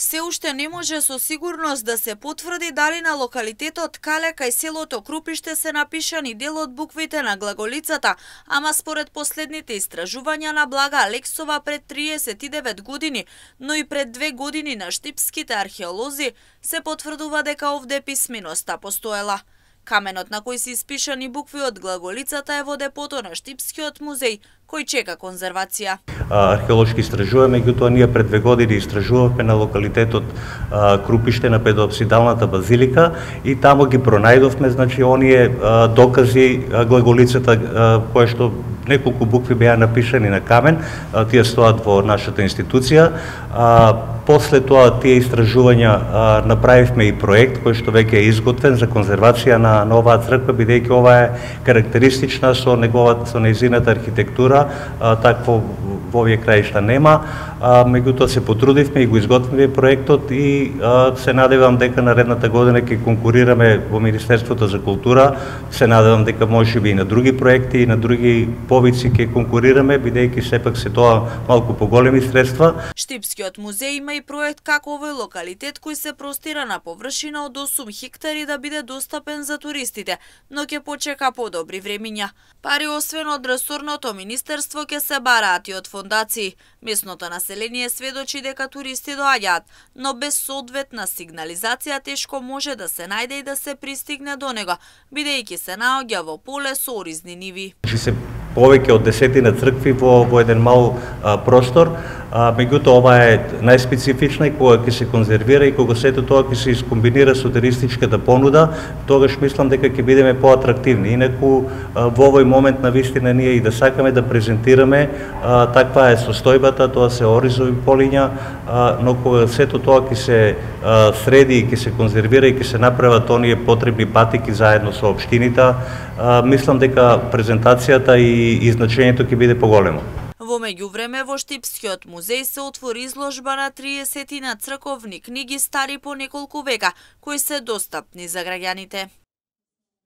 Се уште не може со сигурност да се потврди дали на локалитетот Кале кај селото Крупиште се напишани дел од буквите на глаголицата, ама според последните истражувања на Блага Алексова пред 39 години, но и пред 2 години на штипските археолози, се потврдува дека овде писменоста постоела. Каменот на кој се испишани букви од глаголицата е во депото на Штипскиот музеј, кој чека конзервација. Археолошки истражуваме, меѓутоа ние пред 2 години истражувавме на локалитетот Крупиште на Педоапсидалната базилика и таму ги пронајдовме, значи, оние докази глаголицата која што неколку букви беа напишани на камен, тие стоат во нашата институција. После тоа тие истражувања направивме и проект кој што веќе е изготвен за конзервација на оваа црква, бидејќи ова е карактеристична со нејзината архитектура, такво во овие краишта нема. Меѓутоа се потрудивме и го изготвивме проектот и се надевам дека наредната година ќе конкурираме во Министерството за култура. Се надевам дека можеби и на други проекти и на други повици ќе конкурираме, бидејќи сепак се тоа малку поголеми средства. Штипскиот музеј има и проект како овој локалитет кој се простира на површина од 8 хектари да биде достапен за туристите, но ќе почека подобри времиња. Пари освен од ресорното министерство ќе се бараат и од фондации. Местното население сведочи дека туристи доаѓаат, но без соодветна сигнализација тешко може да се најде и да се пристигне до него, бидејќи се наоѓа во поле со оризни ниви. Повеќе од 10 цркви во еден мал простор, меѓутоа ова е најспецифична и кога ќе се конзервира и кога сето тоа ќе се искомбинира со туристичката понуда, тогаш мислам дека ќе бидеме поатрактивни. Инаку во овој момент на вистина ние и да сакаме да презентираме, таква е состојбата, тоа се оризови полиња, но кога сето тоа ќе се среди и ќе се конзервира и ќе се направат оние потребни патики заедно со општините, мислам дека презентацијата и значењето ќе биде поголемо. Во меѓувреме во Штипскиот музеј се отвори изложба на 30 црковни книги стари по неколку века, кои се достапни за граѓаните.